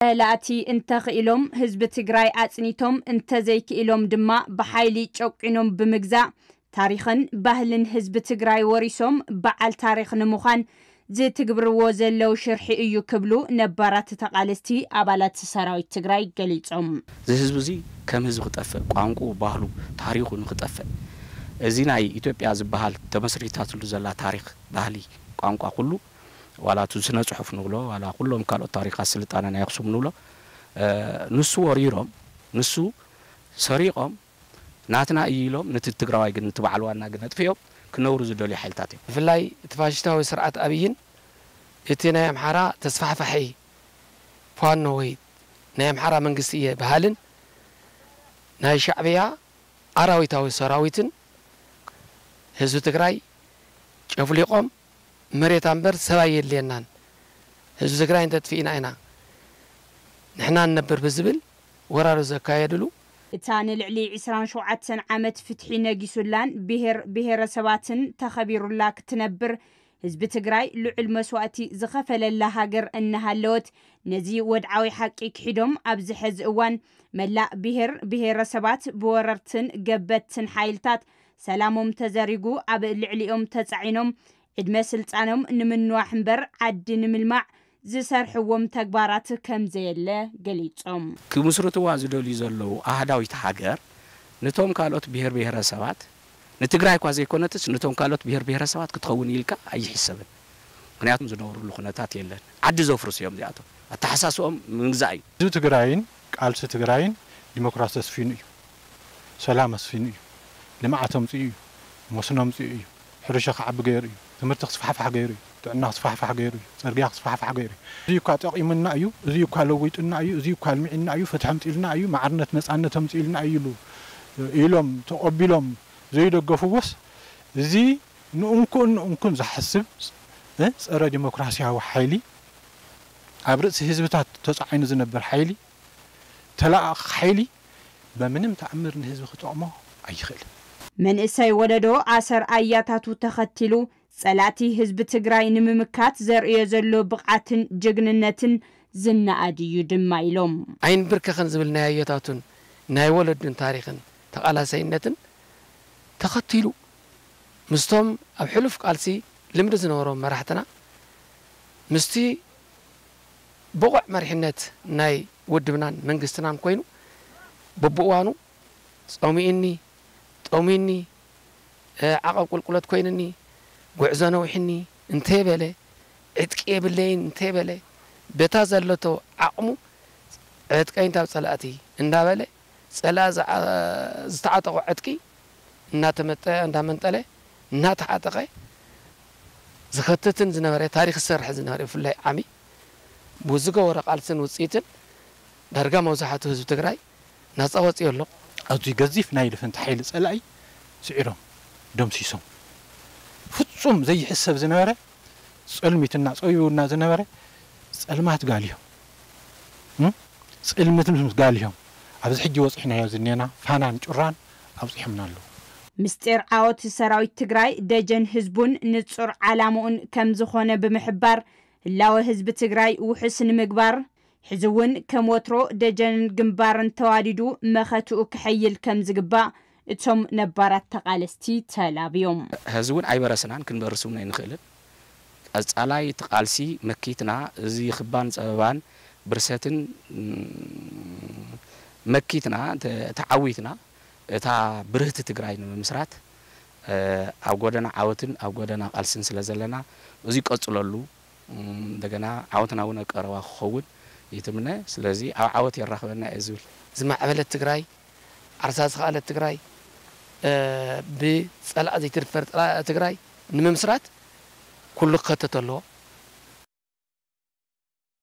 ጸላእቲ እንተኽኢሎም ህዝቢ ትግራይ ኣጽኒቶም፣ እንተዘይክኢሎም ድማ ብሓይሊ ጨቂኖም ብምግዛእ፣ ታሪኽን ባህልን ህዝቢ ትግራይ ወሪሶም በዓል ታሪኽ ንምዃን ዝትግብርዎ ዘለዉ ሽርሒ እዩ ክብሉ ነባራት ተቓለስቲ ኣባላት ሰራዊት ትግራይ ገሊጾም። እዚ ህዝቢ እዚ ከም ህዝቢ ክጠፍእ፣ ቋንቋኡ፣ ባህሉ፣ ታሪኹ ንክጠፍእ፣ እዚ ናይ ኢትዮጵያ ዝበሃል ተመስሪታትሉ ዘላ ታሪኽ፣ ባህሊ፣ ቋንቋ ኩሉ፣ ዋላ እቲ ስነ ጽሑፍ ንብሎ፣ ዋላ ኩሎም ካልኦት ታሪኻት ስልጣነ ናይ ኣኽሱም ንብሎ፣ እ፣ ንሱ ወሪሮም፣ ንሱ ሰሪቖም፣ ናትና እዩ ኢሎም፣ ነቲ ትግራዋይ ግን፣ ነቲ በዓል ዋና ግን ኣጥፊኦም ክነብሩ ዝደልዩ ሓይልታት እዮም። ብፍላይ እቲ ፋሽስታዊ ስርዓት ኣብይን እቲ ናይ ኣምሓራ ተስፋሕፋሒ ፋኖ ወይ ናይ ኣምሓራ መንግስቲ እየ በሃልን ናይ ሻዕብያ ኣራዊታዊ ሰራዊትን ህዝቢ ትግራይ ጨፍሊቖም፣ መሬት ኣምበር ሰብ ኣየድልየናን፣ ህዝቢ ትግራይ እንተጥፊእና ኢና ንሕና ንነብር ብዝብል ወራር ዘካየድሉ፣ እታ ንልዕሊ ዕስራን ሸውዓተን ዓመት ፍትሒ ነጊሱላን ብሄር ብሄረሰባትን ተኸቢሩላ ክትነብር ህዝቢ ትግራይ ልዑል መስዋእቲ ዝኸፈለላ ሃገር እናሃለወት፣ ነዚ ወድዓዊ ሓቂ ክሒዶም ኣብዚ ሕዚ እዋን መላእ ብሄር ብሄረሰባት ብወረርትን ገበትትን ሓይልታት ሰላሞም ተዘሪጉ ኣብ ልዕሊኦም ተጻዒኖም ዕድመ ስልጣኖም ንምንዋሕ እምበር ዓዲ ንምልማዕ ዝሰርሕዎም ተግባራት ከም ዘየለ ገሊጾም። ክምስርትዋ ዝደልዩ ዘለዉ ኣህዳዊት ሃገር፣ ነቶም ካልኦት ብሄር ብሄረሰባት፣ ንትግራይ እኳ ዘይኮነትስ፣ ነቶም ካልኦት ብሄር ብሄረሰባት ክትኸውን ኢልካ ኣይሕሰብን። ምኽንያቱም ዝነብሩሉ ኩነታት የለን። ዓዲ ዘፍርሱ እዮም እዚኣቶም። ኣተሓሳስቦም ምግዛእ እዩ። ህዝቢ ትግራይን ቃልሲ ትግራይን ዲሞክራሲ ኣስፊኑ እዩ። ሰላም ኣስፊኑ እዩ። ልምዓት ኣምፂኡ እዩ። መስኖ ኣምፂኡ እዩ። ሕርሻ ክዓቢ ገይሩ እዩ። ትምህርቲ ክስፋሕፋሕ ገይሩ እዩ። ጥዕና ክስፋሕፋሕ ገይሩ እዩ። ፅርግያ ክስፋሕፋሕ ገይሩ እዩ። እዚ እኳ ጠቒሙና እዩ፣ እዚ እኳ ለዊጡና እዩ፣ እዚ እኳ ኣልሚዕና እዩ፣ ፍትሒ ኣምፂልና እዩ፣ ማዕርነት ነፃነት ኣምፂልና እዩ ኢሉ፣ ኢሎም ተቐቢሎም ዘይደገፍዎስ፣ እዚ ንእንኩን ንእንኩን ዝሓስብ፣ እ፣ ፀረ ዲሞክራሲያዊ ሓይሊ፣ ኣብ ርእሲ ህዝብታት ተፃዒኑ ዝነብር ሓይሊ፣ ተለኣኣኺ ሓይሊ በምንም ተኣምር ንህዝቢ ክጠቕሞ ኣይኽእልን። መንእሰይ ወለዶ ኣሰር ኣያታቱ ተኸቲሉ ጸላእቲ ህዝቢ ትግራይ ንምምካት ዘርእዮ ዘሎ ብቕዓትን ጅግንነትን ዝነኣድ እዩ ድማ ኢሎም። ኣይንብርከኽን ዝብል ናይ ኣያታቱን ናይ ወለዱን ታሪኽን ተቓላሳይነትን ተኸቲሉ ምስቶም ኣብ ሕሉፍ ቃልሲ ልምዲ ዝነበሮም መራሕትና ምስቲ ብቑዕ መሪሕነት ናይ ውድብናን መንግስትናን ኮይኑ በብእዋኑ ጾሚእኒ፣ ጠሚኒ፣ እ፣ ዓቐብ ቁልቁለት ኮይንኒ፣ ጉዕዞ ነዊሕኒ እንተይበለ፣ ዕጥቂ የብለይን እንተይበለ፣ በታ ዘለቶ ዓቕሙ ዕጥቀይን ካብ ጸላእቲ እንዳበለ፣ ጸላእ ዝዓ-፣ ዝተዓጠቖ ዕጥቂ እናተመጠ፣ እንዳመንጠለ፣ እናተዓጠቐ ዝኸትትን ዝነበረ፣ ታሪኽ ዝሰርሕ ዝነበረ፣ ብፍላይ ዓሚ ብዝገበሮ ቃልስን ውጽኢትን ዳርጋ መብዛሕትኡ ህዝቢ ትግራይ ናጻ ወጺኡ ኣሎ። ኣዝዩ ገዚፍ ናይ ልፍንቲ ሓይሊ ጸላኢ ስዒሮም፣ ደምሲሶም። ፍጹም ዘይሕሰብ ዝነበረ ጸልሚትና ጸዊቡና ዝነበረ ጸልማት ጋልዮም፣ እም? ጽልምት ምስ ጋልዮም ኣብዚ ሕጂ ወጺሕናዮ ዝኔና ፋናን ጩራን ኣብጺሖምና ኣለዉ። ምስጢር ዓወት ሰራዊት ትግራይ ደጀን ህዝቡን ንጹር ዓላምኡን ከም ዝኾነ ብምሕባር፣ ህላወ ህዝቢ ትግራይ ውሑስ ንምግባር፣ ሕዚ እውን ከም ወትሮ ደጀንን ግንባርን ተዋዲዱ መኸትኡ ክሕይል ከም ዝግባእ እቶም ነባራት ተቓለስቲ ተላብዮም። ሕዚ እውን ኣይበረስናን፣ ክንበርስ እውን ኣይንኽእልን። ቀጻላይ እቲ ቃልሲ መኪትና፣ እዚ ክባን ጸበባን ብርሰትን፣ እም፣ መኪትና፣ ተ-፣ ተዓዊትና፣ እታ ብርህቲ ትግራይ ንምምስራት፣ እ፣ ኣብ ጎደና ዓወትን ኣብ ጎደና ቃልስን ስለ ዘለና፣ እዚ ቀጽለሉ። እም፣ እንደገና ዓወትና እውን ኣብ ቀረባ ክኸውን ይትምነ። ስለዚ ኣብ ዓወት የራኽበና እየ ዝብል። ዝማዕበለት ትግራይ፣ ዓርሳ ዝኸኣለት ትግራይ፣ እ፣ ብጸላእ ዘይትድፈር ጸላ-፣ ትግራይ ንምምስራት ኩሉ ክኸተት ኣለዎ።